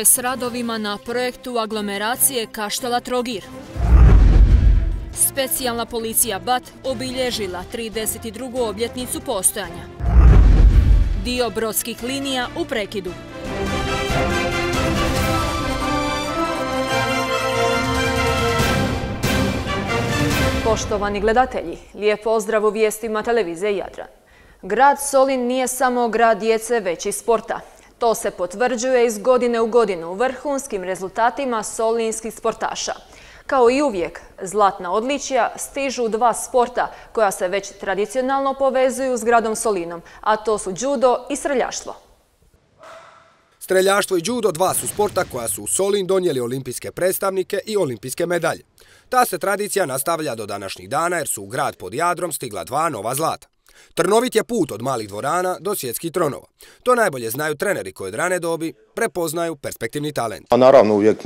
je s radovima na projektu aglomeracije Kaštela-Trogir? Specijalna policija BAT obilježila 32. obljetnicu postojanja. Dio brodskih linija u prekidu. Poštovani gledatelji, lijep pozdrav u vijestima televizije Jadran. Grad Solin nije samo grad djece, već i sporta. To se potvrđuje iz godine u godinu vrhunskim rezultatima solinskih sportaša. Kao i uvijek, zlatna odličja stižu dva sporta koja se već tradicionalno povezuju s gradom Solinom, a to su judo i streljaštvo. Streljaštvo i judo dva su sporta koja su u Solin donijeli olimpijske predstavnike i olimpijske medalje. Ta se tradicija nastavlja do današnjih dana jer su u grad pod Jadrom stigla dva nova zlata. Trnovit je put od malih dvorana do svjetskih tronova. To najbolje znaju treneri koji od rane dobi prepoznaju perspektivni talent. Naravno, uvijek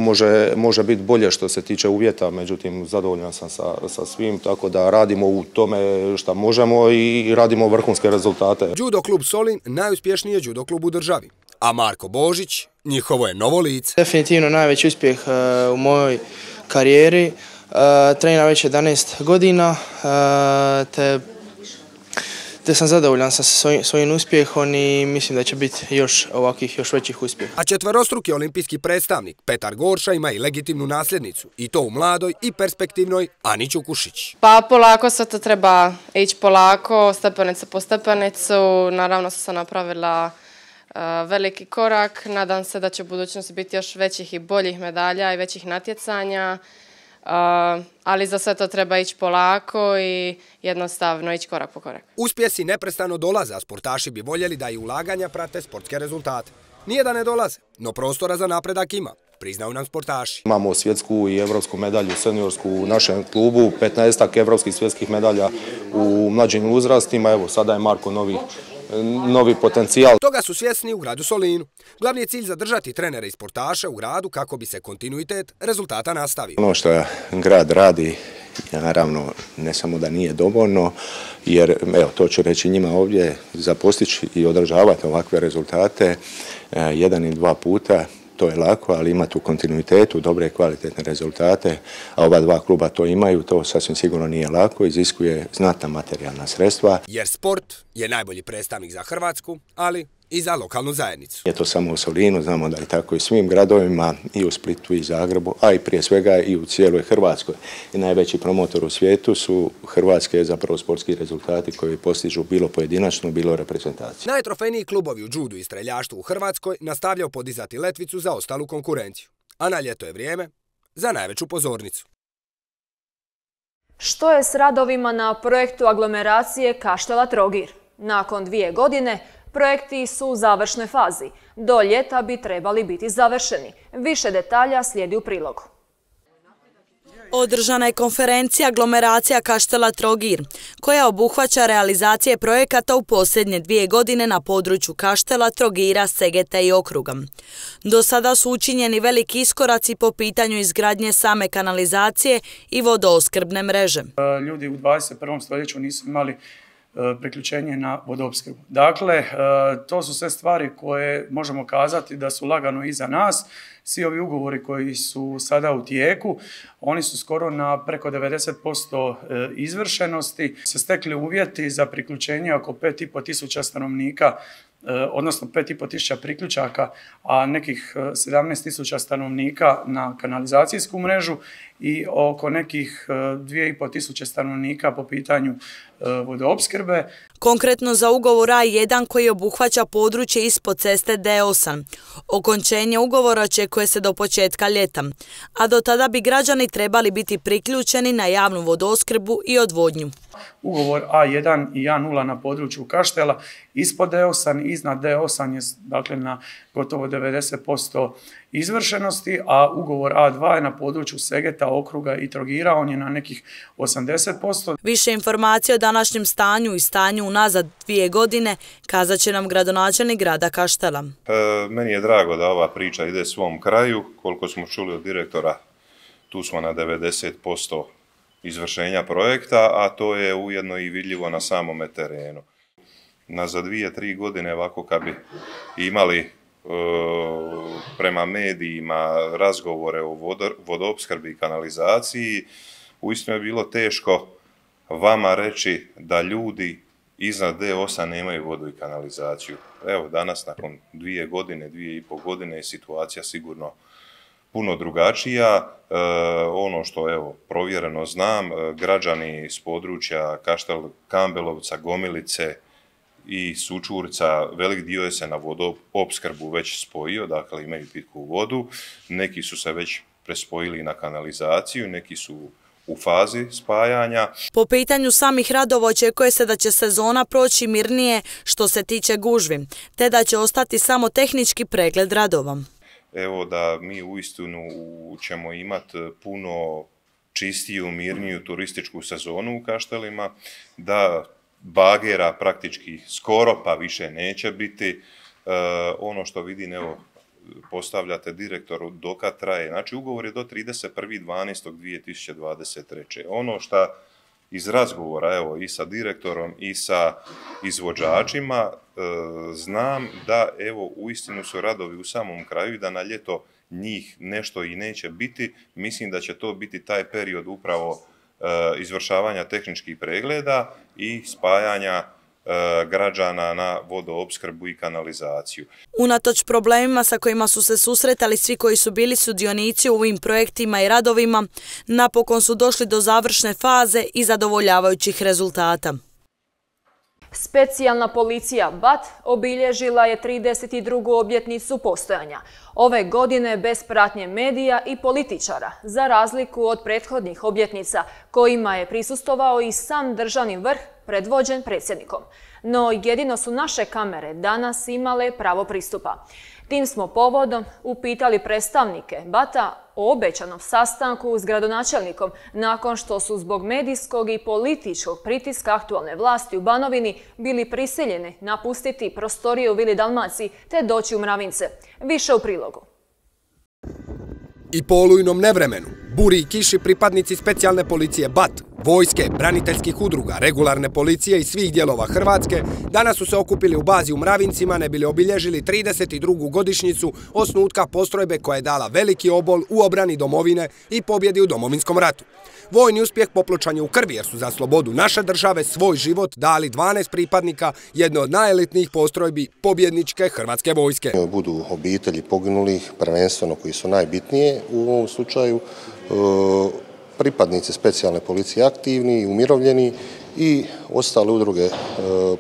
može biti bolje što se tiče uvjeta, međutim zadovoljan sam sa svim, tako da radimo u tome što možemo i radimo vrhunske rezultate. Judo klub Solin najuspješniji je judo klub u državi, a Marko Božić njihovo je novo lice. Definitivno najveći uspjeh u mojoj karijeri. Treniram već 11 godina, te sam zadovoljan sa svojim uspjehom i mislim da će biti još većih uspjeha. A četverostruki olimpijski predstavnik Petar Gorša ima i legitimnu nasljednicu, i to u mladoj i perspektivnoj Aniću Kušić. Pa polako sve to treba ići polako, stepenica po stepenicu. Naravno sam napravila veliki korak. Nadam se da će u budućnosti biti još većih i boljih medalja i većih natjecanja. Ali za sve to treba ići polako i jednostavno ići korak po korak. Uspjesi neprestano dolaze, a sportaši bi voljeli da i ulaganja prate sportske rezultate. Nije da ne dolaze, no prostora za napredak ima, priznaju nam sportaši. Imamo svjetsku i evropsku medalju seniorsku u našem klubu, 15 evropskih svjetskih medalja u mlađim uzrastima. Evo, sada je Marko novi potencijal. Toga su svjesni u gradu Solinu. Glavni je cilj zadržati trenere i sportaše u gradu kako bi se kontinuitet rezultata nastavio. Ono što grad radi, naravno, ne samo da nije dovoljno, jer, evo, to ću reći njima ovdje, za postići i održavati ovakve rezultate jedan i dva puta, to je lako, ali imati u kontinuitetu dobre i kvalitetne rezultate, a ova dva kluba to imaju, to sasvim sigurno nije lako, iziskuje znatna materijalna sredstva. Jer sport je najbolji predstavnik za Hrvatsku, ali i za lokalnu zajednicu. Je to samo u Solinu, znamo da je tako i svim gradovima, i u Splitu i Zagrebu, a i prije svega i u cijeloj Hrvatskoj. I najveći promotor u svijetu su hrvatske zapravo sportski rezultati koji postižu bilo pojedinačno, bilo reprezentaciju. Najtrofejniji klubovi u judu i streljaštvu u Hrvatskoj nastavljaju podizati letvicu za ostalu konkurenciju. A na ljeto je vrijeme za najveću pozornicu. Što je s radovima na projektu aglomeracije Kaštela-Trogir? Nakon 2 godine projekti su u završnoj fazi. Do ljeta bi trebali biti završeni. Više detalja slijedi u prilogu. Održana je konferencija aglomeracija Kaštela-Trogir, koja obuhvaća realizacije projekata u posljednje 2 godine na području Kaštela, Trogira, Segeta i okruga. Do sada su učinjeni veliki iskoraci po pitanju izgradnje same kanalizacije i vodoopskrbne mreže. Ljudi u 21. stoljeću nisu imali priključenje na vodoopskrbu. Dakle, to su sve stvari koje možemo kazati da su lagano iza nas. Svi ovi ugovori koji su sada u tijeku, oni su skoro na preko 90% izvršenosti. Se stekli uvjeti za priključenje oko 5.500 stanovnika, odnosno 5.500 priključaka, a nekih 17.000 stanovnika na kanalizacijsku mrežu i oko nekih 2.500 stanovnika po pitanju vodoopskrbe. Konkretno za ugovor A1 koji obuhvaća područje ispod ceste D8. Okončenje ugovora očekuje se do početka ljeta, a do tada bi građani trebali biti priključeni na javnu vodoopskrbu i odvodnju. Ugovor A1 i A0 na području Kaštela ispod D8, iznad D8 je dakle na gotovo 90% izvršenosti, a ugovor A2 je na području Segeta, okruga i Trogira, on je na nekih 80%. Više informacije o današnjem stanju i stanju unazad 2 godine kazat će nam gradonačelnik grada Kaštela. Meni je drago da ova priča ide svom kraju. Koliko smo čuli od direktora, tu smo na 90% izvršenja projekta, a to je ujedno i vidljivo na samome terenu. Za 2-3 godine ovako kad bi imali prema medijima razgovore o vodoopskrbi i kanalizaciji, uistinu je bilo teško vama reći da ljudi iznad D8 nemaju vodu i kanalizaciju. Evo, danas nakon 2 godine, 2,5 godine je situacija sigurno puno drugačija. Ono što, evo, provjereno znam, građani s područja Kaštel Kambelovca, Gomilice i Sučurca, velik dio je se na vodoopskrbu već spojio, dakle imaju pitku vodu. Neki su se već prespojili na kanalizaciju, neki su u fazi spajanja. Po pitanju samih radova očekuje se da će sezona proći mirnije što se tiče gužvi, te da će ostati samo tehnički pregled radova. Evo da mi uistinu ćemo imati puno čistiju, mirniju turističku sezonu u Kaštelima, da bagera praktički skoro pa više neće biti. Ono što vidim, evo, postavljate direktoru dokad traje. Znači, ugovor je do 31.12.2023. Ono što iz razgovora, evo, i sa direktorom i sa izvođačima, znam da, evo, uistinu su radovi u samom kraju i da na ljeto njih nešto i neće biti. Mislim da će to biti taj period upravo izvršavanja tehničkih pregleda i spajanja građana na vodoopskrbu i kanalizaciju. Unatoč problemima sa kojima su se susretali svi koji su bili sudionici u ovim projektima i radovima, napokon su došli do završne faze i zadovoljavajućih rezultata. Specijalna policija BAT obilježila je 32. obljetnicu postojanja. Ove godine bez pratnje medija i političara, za razliku od prethodnih obljetnica kojima je prisustvovao i sam državni vrh predvođen predsjednikom. No jedino su naše kamere danas imale pravo pristupa. Tim smo povodom upitali predstavnike BAT-a o obećanom sastanku s gradonačelnikom nakon što su zbog medijskog i političkog pritiska aktualne vlasti u Banovini bili prisiljeni napustiti prostorije u Vili Dalmaciji te doći u Mravince. Više u prilogu. I po olujnom nevremenu, buri i kiši pripadnici specijalne policije BAT, vojske, braniteljskih udruga, regularne policije i svih dijelova Hrvatske danas su se okupili u bazi u Mravincima ne bili obilježili 32. godišnjicu osnutka postrojbe koja je dala veliki obol u obrani domovine i pobjedi u Domovinskom ratu. Vojni uspjeh popločan je u krvi jer su za slobodu naše države svoj život dali 12 pripadnika jedne od najelitnijih postrojbi pobjedničke Hrvatske vojske. Budu obitelji poginulih, prvenstveno koji su najbitnije u ovom slučaju, pripadnici specijalne policije aktivni, umirovljeni i ostale udruge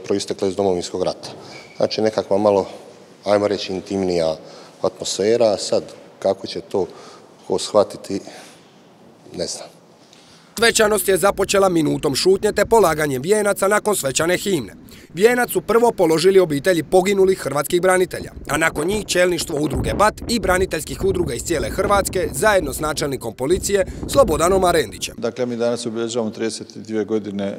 proistekle iz Domovinskog rata. Znači nekakva malo, ajmo reći, intimnija atmosfera. Sad kako će to ko shvatiti, ne znam. Svečanost je započela minutom šutnje te polaganjem vijenaca nakon svečane himne. Vijenac su prvo položili obitelji poginulih hrvatskih branitelja, a nakon njih čelništvo udruge BAT i braniteljskih udruga iz cijele Hrvatske zajedno s načelnikom policije Slobodanom Arendićem. Dakle, mi danas obilježavamo 32 godine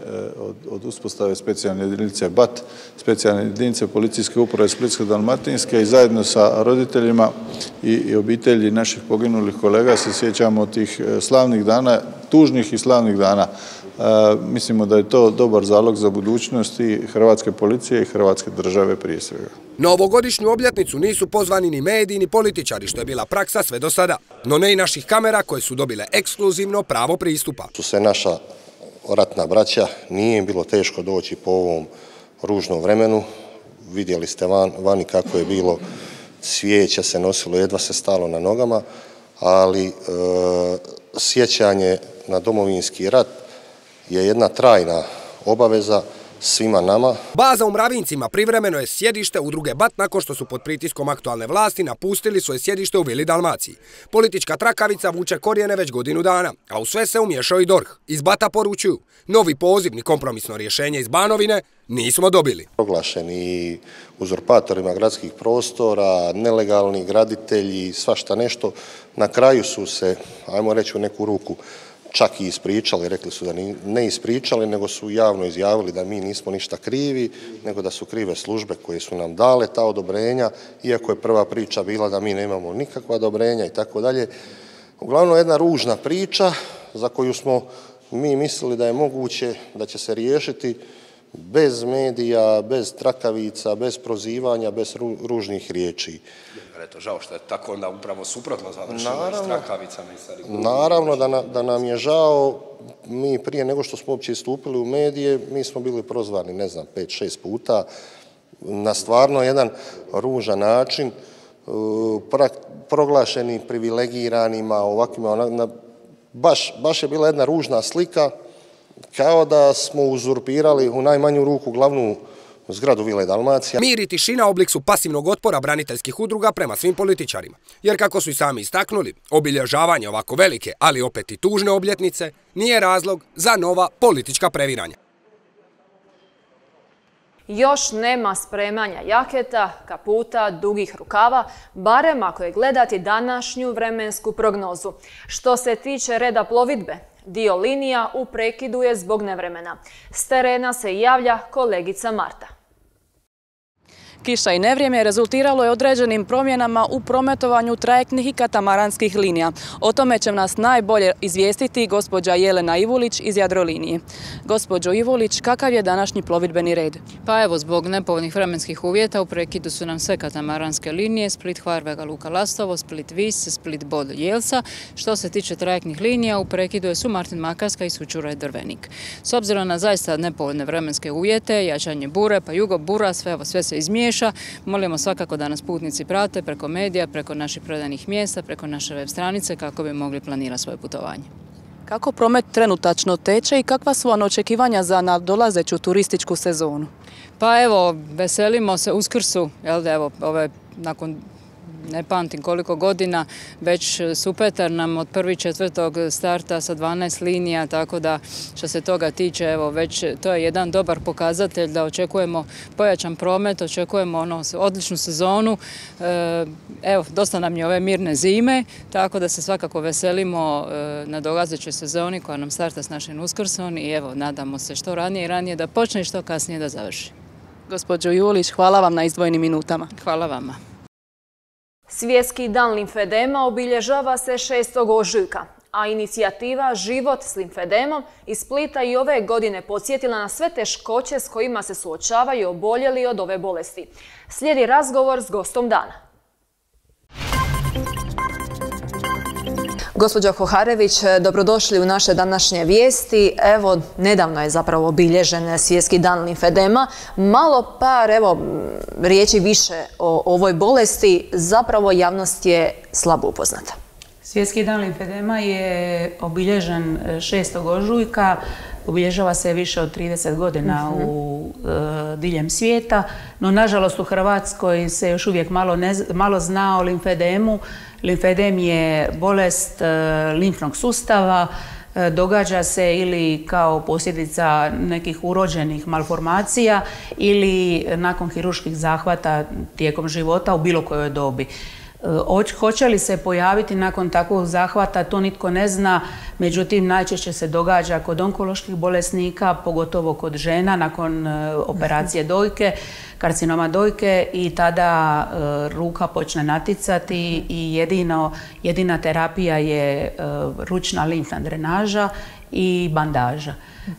od uspostave specijalne jedinice BAT, specijalne jedinice policijske uprave Splitsko-dalmatinske i zajedno sa roditeljima i obitelji naših poginulih kolega se sjećamo tih slavnih dana, tužnih i slavnih dana. Mislimo da je to dobar zalog za budućnost i hrvatske policije i hrvatske države prije svega. Na ovogodišnju obljetnicu nisu pozvani ni mediji ni političari, što je bila praksa sve do sada, no ne i naših kamera koje su dobile ekskluzivno pravo pristupa. Su se naša ratna braća, nije im bilo teško doći po ovom ružnom vremenu. Vidjeli ste vani kako je bilo, cvijeće se nosilo, jedva se stalo na nogama, ali sjećanje na Domovinski rat je jedna trajna obaveza svima nama. Baza u Mravincima privremeno je sjedište udruge BAT nakon što su pod pritiskom aktualne vlasti napustili svoje sjedište u Vili Dalmaciji. Politička trakavica vuče korijene već godinu dana, a u sve se umiješao i DORH. Iz BAT-a poručuju, novi poziv ni kompromisno rješenje iz Banovine nismo dobili. Proglašeni uzurpatorima gradskih prostora, nelegalni graditelji, svašta nešto, na kraju su se, ajmo reći u neku ruku, čak i ispričali, rekli su da ne ispričali, nego su javno izjavili da mi nismo ništa krivi, nego da su krive službe koje su nam dale ta odobrenja, iako je prva priča bila da mi nemamo nikakva odobrenja i tako dalje. Uglavnom jedna ružna priča za koju smo mi mislili da je moguće da će se riješiti bez medija, bez trakavica, bez prozivanja, bez ružnih riječi. Eto, žao što je tako onda upravo suprotno završilo s trakavicama i stari. Naravno da nam je žao. Mi prije nego što smo uopće istupili u medije, mi smo bili prozvani, ne znam, 5-6 puta na stvarno jedan ružan način, proglašeni privilegiranima, ovakvima, baš je bila jedna ružna slika, kao da smo uzurpirali u najmanju ruku glavnu zgradu Vile Dalmacija. Mir i tišina oblik su pasivnog otpora braniteljskih udruga prema svim političarima. Jer kako su i sami istaknuli, obilježavanje ovako velike, ali opet i tužne obljetnice, nije razlog za nova politička previranja. Još nema spremanja jaketa, kaputa, dugih rukava, barem ako je gledati današnju vremensku prognozu. Što se tiče reda plovidbe, dio linija u prekidu je zbog nevremena. S terena se javlja kolegica Marta. Kiša i nevrijeme rezultiralo je određenim promjenama u prometovanju trajektnih i katamaranskih linija. O tome će nas najbolje izvijestiti gospođa Jelena Ivulić iz Jadrolinije. Gospođo Ivulić, kakav je današnji plovidbeni red? Pa evo, zbog nepovoljnih vremenskih uvjeta u prekidu su nam sve katamaranske linije, Split, Hvar, Vega, Luka, Lastovo, Split, Vis, Split, Bod, Jelsa. Što se tiče trajektnih linija, u prekidu su Martin, Makarska i Sućuraj, Drvenik. S obzirom na zaista nepovoljne vremenske uvjete, jačanje bure, pa jugo bura, sve se izmiješa. Molimo svakako da nas putnici prate preko medija, preko naših prodajnih mjesta, preko naše web stranice kako bi mogli planirati svoje putovanje. Kako promet trenutačno teče i kakva su očekivanja za nadolazeću turističku sezonu? Pa evo, veselimo se Uskrsu, evo, nakon ne pamtim koliko godina, već Supetar nam od 1.4. starta sa 12 linija, tako da što se toga tiče, evo, već to je jedan dobar pokazatelj da očekujemo pojačan promet, očekujemo odličnu sezonu. Evo, dosta nam je ove mirne zime, tako da se svakako veselimo na dolazećoj sezoni koja nam starta s našim Uskrsom i evo, nadamo se što ranije i ranije da počne i što kasnije da završi. Gospođo Julić, hvala vam na izdvojenim minutama. Hvala vama. Svjetski dan limfedema obilježava se 6. ožujka, a inicijativa Život s limfedemom iz Splita i ove godine podsjetila na sve teškoće s kojima se suočavaju oboljeli od ove bolesti. Slijedi razgovor s gostom dana. Gospođo Hoharević, dobrodošli u naše današnje vijesti. Evo, nedavno je zapravo obilježen Svjetski dan limfedema. Malo par, riječi više o ovoj bolesti. Zapravo javnost je slabo upoznata. Svjetski dan limfedema je obilježen 6. ožujka. Obilježava se više od 30 godina diljem svijeta, no nažalost u Hrvatskoj se još uvijek malo zna o limfedemu. Limfedem je bolest limfnog sustava, događa se ili kao posljedica nekih urođenih malformacija ili nakon kirurških zahvata tijekom života u bilo kojoj dobi. Hoće li se pojaviti nakon takvog zahvata, to nitko ne zna, međutim najčešće se događa kod onkoloških bolesnika, pogotovo kod žena nakon operacije dojke, karcinoma dojke i tada ruka počne naticati i jedina terapija je ručna limfna drenaža i bandaža.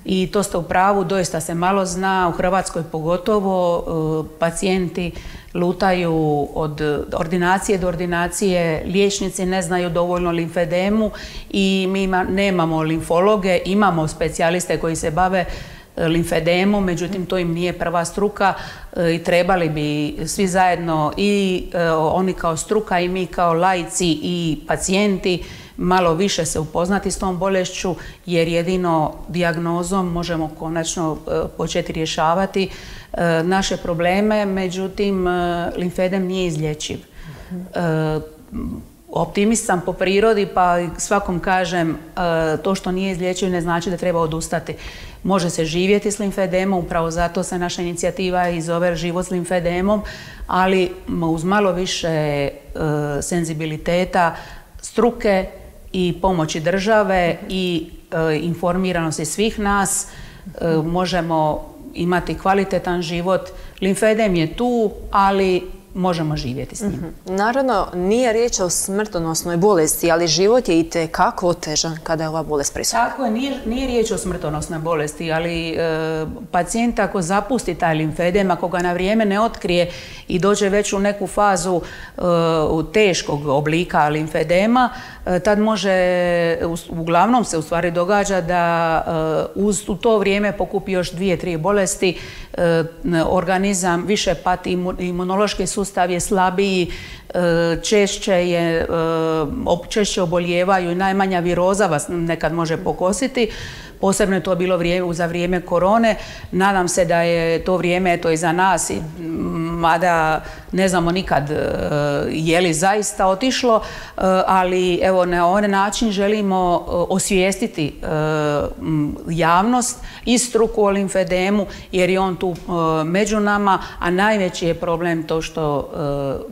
I to ste u pravu, doista se malo zna, u Hrvatskoj pogotovo pacijenti lutaju od ordinacije do ordinacije, liječnici ne znaju dovoljno limfedemu i mi nemamo limfologe, imamo specijaliste koji se bave limfedemom, međutim to im nije prva struka i trebali bi svi zajedno i oni kao struka i mi kao laici i pacijenti malo više se upoznati s tom bolešću jer jedino dijagnozom možemo konačno početi rješavati naše probleme, međutim limfedem nije izlječiv. Optimist sam po prirodi pa svakom kažem to što nije izlječiv ne znači da treba odustati. Može se živjeti s limfedemom, upravo zato se naša inicijativa i zove Život s limfedemom, ali uz malo više senzibiliteta, struke i pomoći države i informiranosti svih nas možemo imati kvalitetan život. Limfedem je tu, ali možemo živjeti s njim. Naravno, nije riječ o smrtonosnoj bolesti, ali život je itekako otežan kada je ova bolest prisutna. Tako je, nije riječ o smrtonosnoj bolesti, ali pacijent ako zapusti taj limfedem, ako ga na vrijeme ne otkrije i dođe već u neku fazu teškog oblika limfedema, tad uglavnom se u stvari događa da u to vrijeme pokupi još 2-3 bolesti, organizam više pati, imunološki sustav je slabiji, češće obolijevaju i najmanja viroza vas nekad može pokositi. Posebno je to bilo za vrijeme korone. Nadam se da je to vrijeme iza nas, mada ne znamo nikad je li zaista otišlo, ali evo na ovaj način želimo osvijestiti javnost i struku o limfedemu, jer je on tu među nama, a najveći je problem to što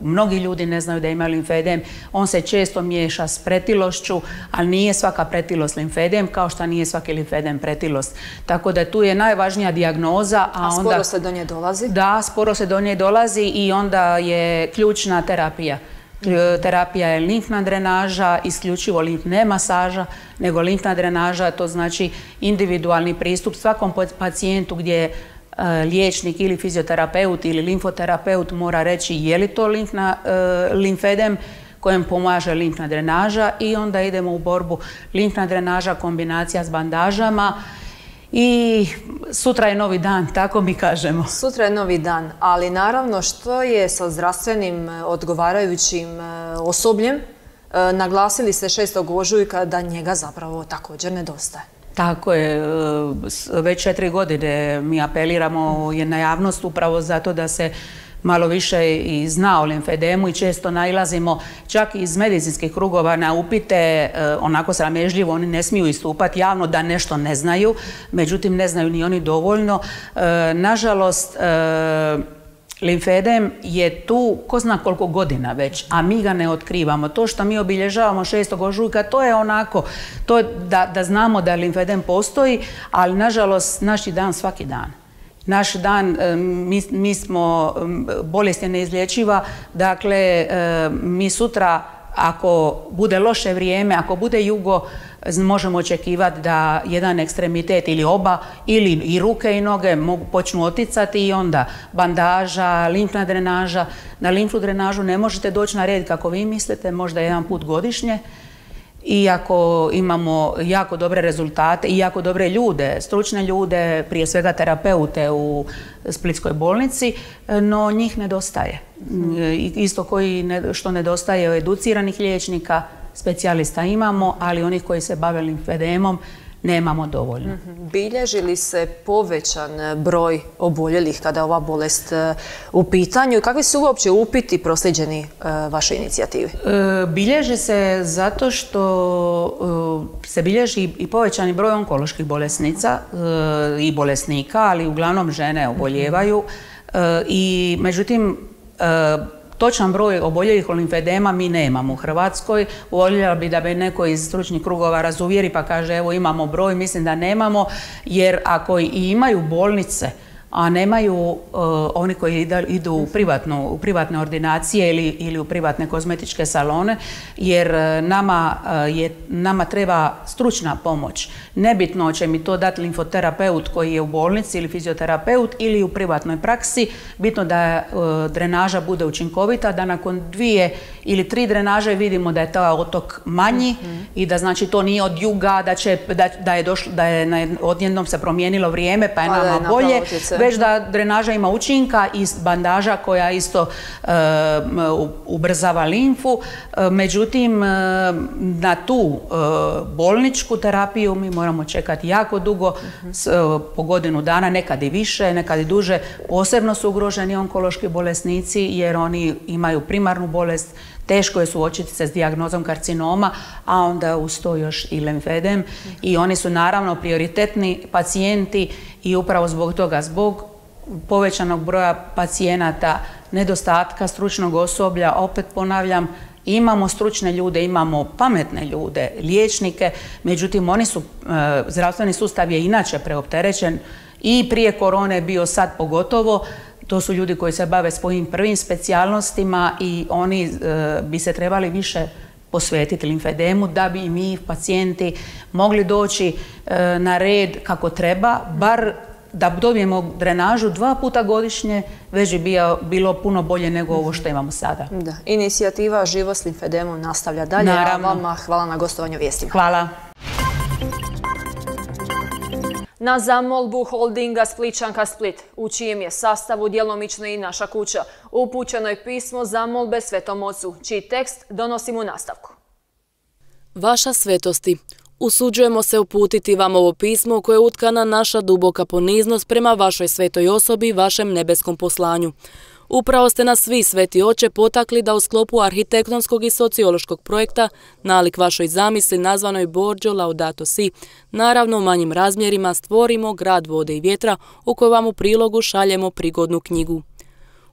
mnogi ljudi ne znaju da imaju limfedem. On se često miješa s pretilošću, ali nije svaka pretilost limfedem, kao što nije svaki limfedem pretilost. Tako da tu je najvažnija dijagnoza. A sporo se do nje dolazi? Da, sporo se do nje dolazi i onda je ključna terapija. Terapija je limfna drenaža, isključivo ne masaža, nego limfna drenaža, to znači individualni pristup svakom pacijentu gdje liječnik ili fizioterapeut ili limfoterapeut mora reći je li to limfedem kojem pomaže limfna drenaža, i onda idemo u borbu. Limfna drenaža, kombinacija s bandažama, i sutra je novi dan, tako mi kažemo. Sutra je novi dan, ali naravno što je sa zdravstvenim odgovarajućim osobljem? Naglasili ste 6. ožujka da njega zapravo također nedostaje. Tako je, već 4 godine mi apeliramo na javnost upravo zato da se malo više i zna o limfedemu, i često nailazimo čak iz medicinskih krugova na upite, onako sramežljivo, oni ne smiju istupati javno da nešto ne znaju, međutim ne znaju ni oni dovoljno. Nažalost, limfedem je tu ko zna koliko godina već, a mi ga ne otkrivamo. To što mi obilježavamo 6. ožujka, to je onako, to da znamo da limfedem postoji, ali nažalost naš je dan svaki dan. Naš dan, mi smo, bolest je neizlječiva, dakle mi sutra, ako bude loše vrijeme, ako bude jugo, možemo očekivati da jedan ekstremitet ili oba, ili i ruke i noge počnu oticati, i onda bandaža, limfna drenaža. Na limfnu drenažu ne možete doći na red kako vi mislite, možda jedan put godišnje. Iako imamo jako dobre rezultate i jako dobre ljude, stručne ljude, prije svega terapeute u Splitskoj bolnici, no njih nedostaje. Isto što nedostaje educiranih liječnika, specijalista imamo, ali onih koji se bave limfedemom nemamo dovoljno. Bilježi li se povećan broj oboljelih kada je ova bolest u pitanju? Kakvi su uopće upiti proslijeđeni vašoj inicijativi? Bilježi se zato što se bilježi i povećani broj onkoloških bolesnica i bolesnika, ali uglavnom žene oboljevaju. I međutim, točan broj oboljelih od limfedema mi nemamo u Hrvatskoj. Voljela bi da me neko iz stručnih krugova razuvjeri pa kaže evo imamo broj, mislim da nemamo, jer ako i imaju bolnice, a nemaju oni koji idu u privatne ordinacije ili u privatne kozmetičke salone, jer nama treba stručna pomoć. Nebitno će mi to dati limfoterapeut koji je u bolnici ili fizioterapeut ili u privatnoj praksi, bitno da drenaža bude učinkovita, da nakon 2 ili 3 drenaže vidimo da je taj otok manji i da znači to nije od juga, da je odjednom se promijenilo vrijeme pa je nama bolje, već da drenaža ima učinka i bandaža koja isto ubrzava limfu. Međutim, na tu bolničku terapiju mi moramo čekati jako dugo, po godinu dana, nekad i više, nekad i duže. Posebno su ugroženi onkološki bolesnici jer oni imaju primarnu bolest, teško je suočiti se s dijagnozom karcinoma, a onda uz to još i limfedem. I oni su naravno prioritetni pacijenti i upravo zbog toga, zbog povećanog broja pacijenata, nedostatka stručnog osoblja, opet ponavljam, imamo stručne ljude, imamo pametne ljude, liječnike, međutim zdravstveni sustav je inače preopterećen i prije korone bio, sad pogotovo. to su ljudi koji se bave svojim prvim specijalnostima i oni bi se trebali više posvetiti limfedemu da bi i mi, pacijenti, mogli doći na red kako treba, bar da dobijemo drenažu 2 puta godišnje, već bi bilo puno bolje nego ovo što imamo sada. Da. Inicijativa Život s limfedemom nastavlja dalje. Naravno. A vama hvala na gostovanju vijestima. Hvala. Na zamolbu holdinga Splićanka Split, u čijem je sastavu djelomično i naša kuća, upućeno je pismo zamolbe Svetom Ocu, čiji tekst donosimo u nastavku. Vaša svetosti, usuđujemo se uputiti vam ovo pismo koje je utkana naša duboka poniznost prema vašoj svetoj osobi i vašem nebeskom poslanju. Upravo ste nas vi, Sveti Oče, potakli da u sklopu arhitektonskog i sociološkog projekta, nalik vašoj zamisli nazvanoj Borgio Laudato Si, naravno u manjim razmjerima stvorimo grad vode i vjetra u kojoj vam u prilogu šaljemo prigodnu knjigu.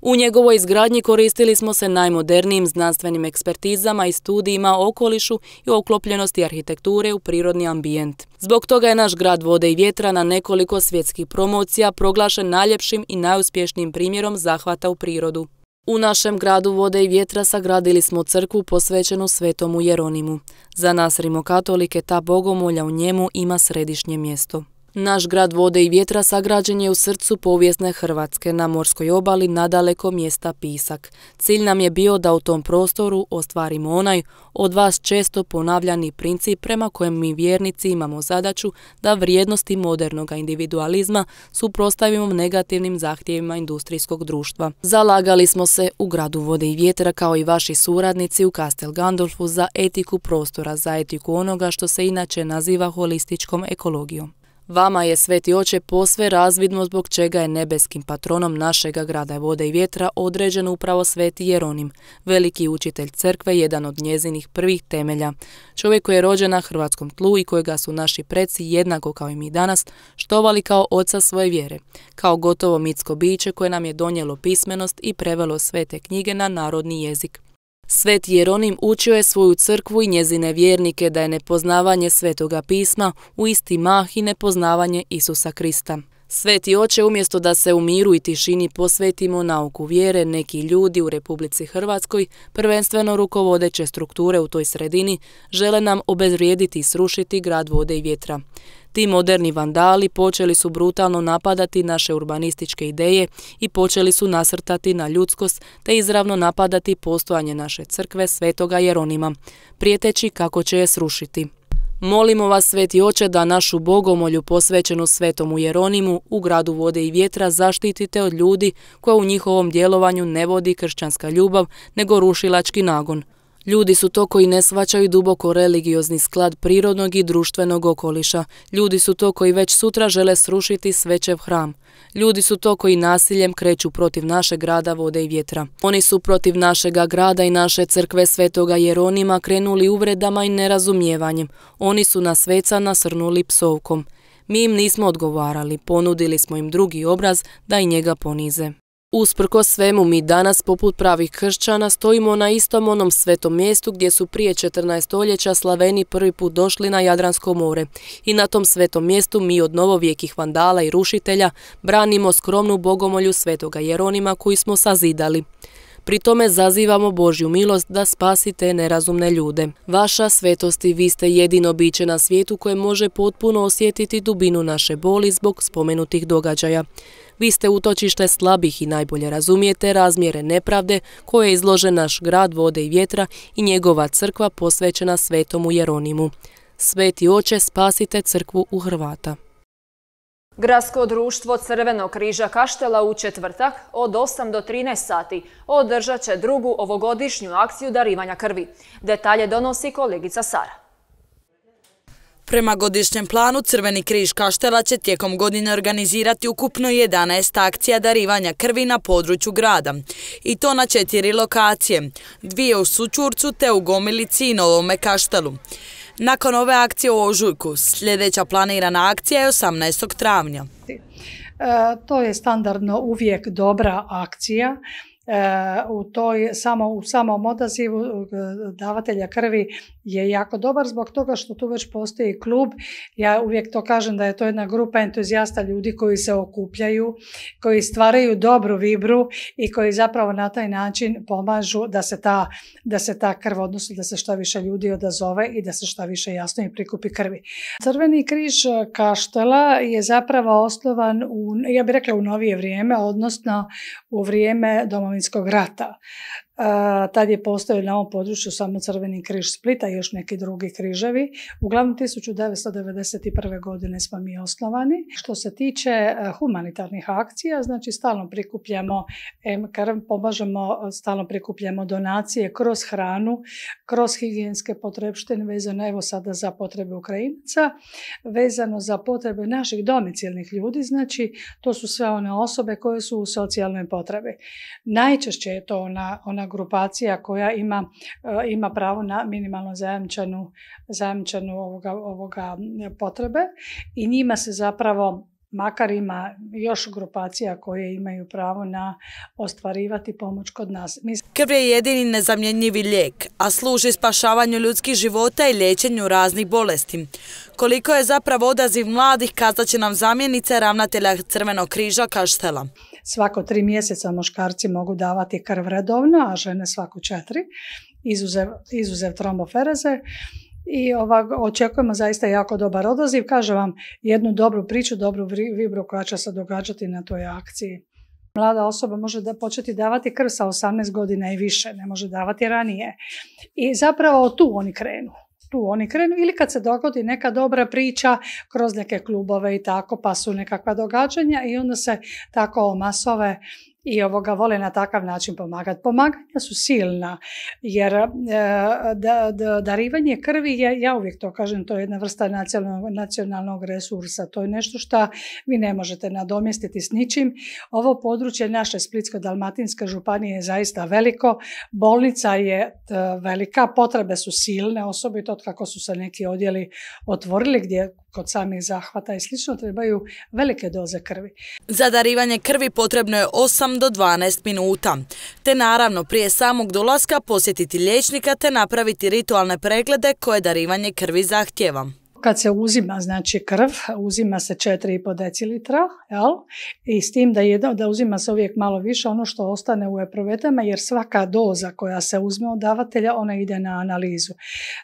U njegovoj izgradnji koristili smo se najmodernijim znanstvenim ekspertizama i studijima o okolišu i o uklopljenosti arhitekture u prirodni ambijent. Zbog toga je naš grad vode i vjetra na nekoliko svjetskih promocija proglašen najljepšim i najuspješnijim primjerom zahvata u prirodu. U našem gradu vode i vjetra sagradili smo crkvu posvećenu Svetomu Jeronimu. Za nas rimokatolike ta bogomolja u njemu ima središnje mjesto. Naš grad vode i vjetra sagrađen je u srcu povijesne Hrvatske, na morskoj obali nadaleko mjesta Pisak. Cilj nam je bio da u tom prostoru ostvarimo onaj od vas često ponavljani princip prema kojem mi vjernici imamo zadaću da vrijednosti modernog individualizma suprotstavimo negativnim zahtjevima industrijskog društva. Zalagali smo se u gradu vode i vjetra kao i vaši suradnici u Castel Gandolfu za etiku prostora, za etiku onoga što se inače naziva holističkom ekologijom. Vama je, Sveti Oče, posve razvidno zbog čega je nebeskim patronom našega grada vode i vjetra određen upravo Sveti Jeronim, veliki učitelj crkve, jedan od njezinih prvih temelja. Čovjek koji je rođen na hrvatskom tlu i kojega su naši preci, jednako kao i mi danas, štovali kao oca svoje vjere, kao gotovo mitsko biće koje nam je donijelo pismenost i prevelo svete knjige na narodni jezik. Sveti Jeronim učio je svoju crkvu i njezine vjernike da je nepoznavanje Svetoga pisma u isti mah i nepoznavanje Isusa Krista. Sveti Oče, umjesto da se u miru i tišini posvetimo nauku vjere, neki ljudi u Republici Hrvatskoj, prvenstveno rukovodeće strukture u toj sredini, žele nam obezvrijediti i srušiti grad vode i vjetra. Ti moderni vandali počeli su brutalno napadati naše urbanističke ideje i počeli su nasrtati na ljudskost te izravno napadati postojanje naše crkve Svetoga Jeronima, prijeteći kako će je srušiti. Molimo vas, Sveti Oče, da našu bogomolju posvećenu Svetomu Jeronimu u gradu vode i vjetra zaštitite od ljudi koja u njihovom djelovanju ne vodi kršćanska ljubav, nego rušilački nagon. Ljudi su to koji ne shvaćaju duboko religiozni sklad prirodnog i društvenog okoliša. Ljudi su to koji već sutra žele srušiti Svećev hram. Ljudi su to koji nasiljem kreću protiv našeg grada vode i vjetra. Oni su protiv našega grada i naše crkve Svetoga Jeronima krenuli uvredama i nerazumijevanjem. Oni su na sveca nasrnuli psovkom. Mi im nismo odgovarali, ponudili smo im drugi obraz da i njega ponize. Usprkos svemu, mi danas, poput pravih kršćana, stojimo na istom onom svetom mjestu gdje su prije 14 stoljeća Slaveni prvi put došli na Jadransko more. I na tom svetom mjestu mi od novovijekih vandala i rušitelja branimo skromnu bogomolju Svetoga Jeronima koju smo sazidali. Pri tome zazivamo Božju milost da spasite nerazumne ljude. Vaša svetosti, vi ste jedino biće na svijetu koje može potpuno osjetiti dubinu naše boli zbog spomenutih događaja. Vi ste utočište slabih i najbolje razumijete razmjere nepravde koje je izložen naš grad vode i vjetra i njegova crkva posvećena Svetomu Jeronimu. Sveti Oče, spasite crkvu u Hrvata. Gradsko društvo Crvenog križa Kaštela u četvrtak od 8 do 13 sati održat će drugu ovogodišnju akciju darivanja krvi. Detalje donosi kolegica Sara. Prema godišnjem planu, Crveni križ Kaštela će tijekom godine organizirati ukupno 11 akcija darivanja krvi na području grada. I to na 4 lokacije, 2 u Sučurcu te u Gomilici i Novome Kaštelu. Nakon ove akcije u ožujku, sljedeća planirana akcija je 18. travnja. To je standardno uvijek dobra akcija. U samom odazivu davatelja krvi je jako dobar zbog toga što tu već postoji klub. Ja uvijek to kažem da je to jedna grupa entuzijasta ljudi koji se okupljaju, koji stvaraju dobru vibru i koji zapravo na taj način pomažu da se ta krv, odnosno da se što više ljudi odazove i da se što više jasno i prikupi krvi. Crveni križ Kaštela je zapravo osnovan ja bih rekla u novije vrijeme, odnosno u vrijeme Domovinskog rata. Tad je postojao na ovom području samo Crveni križ Splita i još neki drugi križevi. Uglavnom 1991. godine smo mi osnovani. Što se tiče humanitarnih akcija, znači stalno prikupljamo krv, pomažemo, stalno prikupljamo donacije kroz hranu, kroz higijenske potrepštine vezano evo sada za potrebe Ukrajinaca, vezano za potrebe naših domicilnih ljudi, znači to su sve one osobe koje su u socijalnoj potrebi. Najčešće je to ona grupacija koja ima pravo na minimalno zajamčenu ovoga potrebe i njima se zapravo, makar ima još grupacija koje imaju pravo na ostvarivati pomoć kod nas. Krv je jedini nezamjenjivi lijek, a služi spašavanju ljudskih života i liječenju raznih bolesti. Koliko je zapravo odaziv mladih, kazat će nam zamjenica ravnatelja Crvenog križa Kaštela. Svako 3 mjeseca muškarci mogu davati krv redovno, a žene svako 4, izuzev trombofereze. I očekujemo zaista jako dobar odaziv. Kažem vam jednu dobru priču, dobru vibru koja će se događati na toj akciji. Mlada osoba može početi davati krv sa 18 godina i više, ne može davati ranije. I zapravo tu oni krenu ili kad se dogodi neka dobra priča kroz neke klubove i tako, pa su nekakva događanja i onda se tako omasove i vole na takav način pomagati. Pomaganja su silna, jer darivanje krvi je, ja uvijek to kažem, to je jedna vrsta nacionalnog resursa. To je nešto što vi ne možete nadomjestiti s ničim. Ovo područje naše Splitsko-dalmatinske županije je zaista veliko, bolnica je velika, potrebe su silne, osobito kako su se neki odjeli otvorili gdje kod samih zahvata i slično trebaju velike doze krvi. Za darivanje krvi potrebno je 8 do 12 minuta, te naravno prije samog dolaska posjetiti liječnika te napraviti ritualne preglede koje darivanje krvi zahtijeva. Kad se uzima znači krv, uzima se 4,5 decilitra, i s tim da uzima se uvijek malo više ono što ostane u epruvetama, jer svaka doza koja se uzme od davatelja, ona ide na analizu.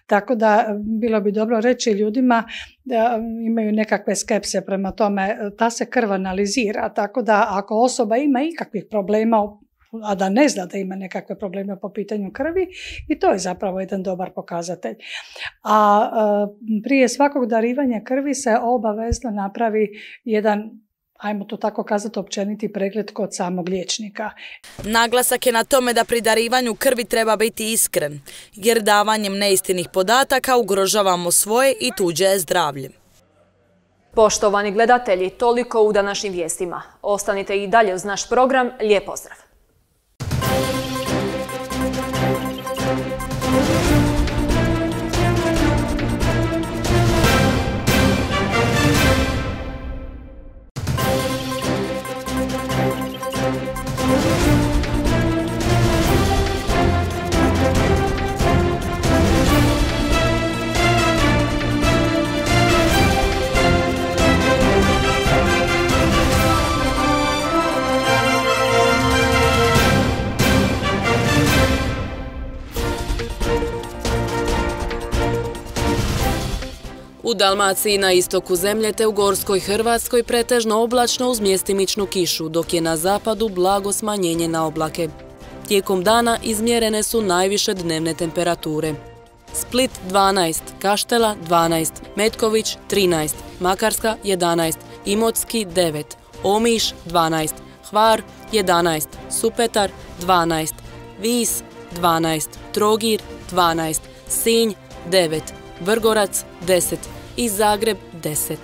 Tako da bilo bi dobro reći ljudima da imaju nekakve skepse prema tome, ta se krv analizira, tako da ako osoba ima ikakvih problema, a da ne zna da ima nekakve probleme po pitanju krvi, i to je zapravo jedan dobar pokazatelj. A prije svakog darivanja krvi se obavezno napravi jedan, ajmo to tako kazati, općeniti pregled kod samog liječnika. Naglasak je na tome da pri darivanju krvi treba biti iskren, jer davanjem neistinnih podataka ugrožavamo svoje i tuđe zdravlje. Poštovani gledatelji, toliko u današnjim vijestima. Ostanite i dalje uz naš program. Lijep pozdrav! U Dalmaciji na istoku zemlje te u gorskoj Hrvatskoj pretežno oblačno uz mjestimičnu kišu, dok je na zapadu blago smanjenje na oblake. Tijekom dana izmjerene su najviše dnevne temperature. Split 12, Kaštela 12, Metković 13, Makarska 11, Imotski 9, Omiš 12, Hvar 11, Supetar 12, Vis 12, Trogir 12, Sinj 9, Vrgorac 10 i Zagreb 10.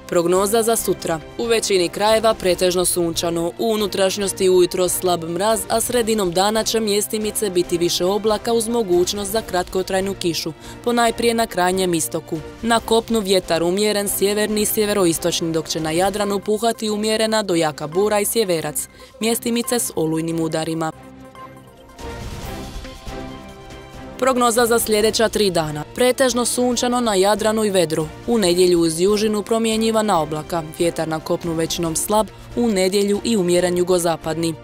Prognoza za sutra. U većini krajeva pretežno sunčano, u unutrašnjosti ujutro slab mraz, a sredinom dana će mjestimice biti više oblaka uz mogućnost za kratkotrajnu kišu, ponajprije na krajnjem istoku. Na kopnu vjetar umjeren sjeverni i sjeveroistočni, dok će na Jadranu puhati umjerena do jaka bura i sjeverac, mjestimice s olujnim udarima. Prognoza za sljedeća 3 dana. Pretežno sunčano na Jadranu i vedru. U nedjelju uz južinu promjenjivana oblaka. Vjetar na kopnu većinom slab, u nedjelju i umjeren jugozapadni.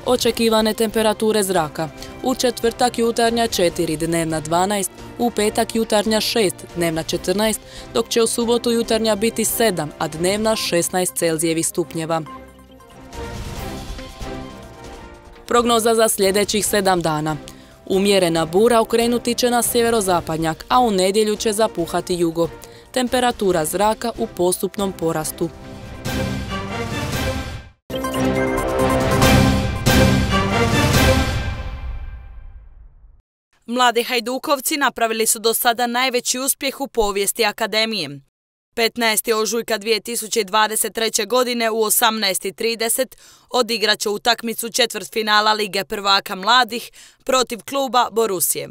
Očekivane temperature zraka. U četvrtak jutarnja 4, dnevna 12, u petak jutarnja 6, dnevna 14, dok će u subotu jutarnja biti 7, a dnevna 16 Celzijevih stupnjeva. Prognoza za sljedećih 7 dana. Umjerena bura okrenuti će na sjeverozapadnjak, a u nedjelju će zapuhati jugo. Temperatura zraka u postupnom porastu. Mladi Hajdukovci napravili su do sada najveći uspjeh u povijesti akademije. 15. ožujka 2023. godine u 18:30 odigrat će utakmicu četvrtfinala Lige prvaka mladih protiv kluba Borusije.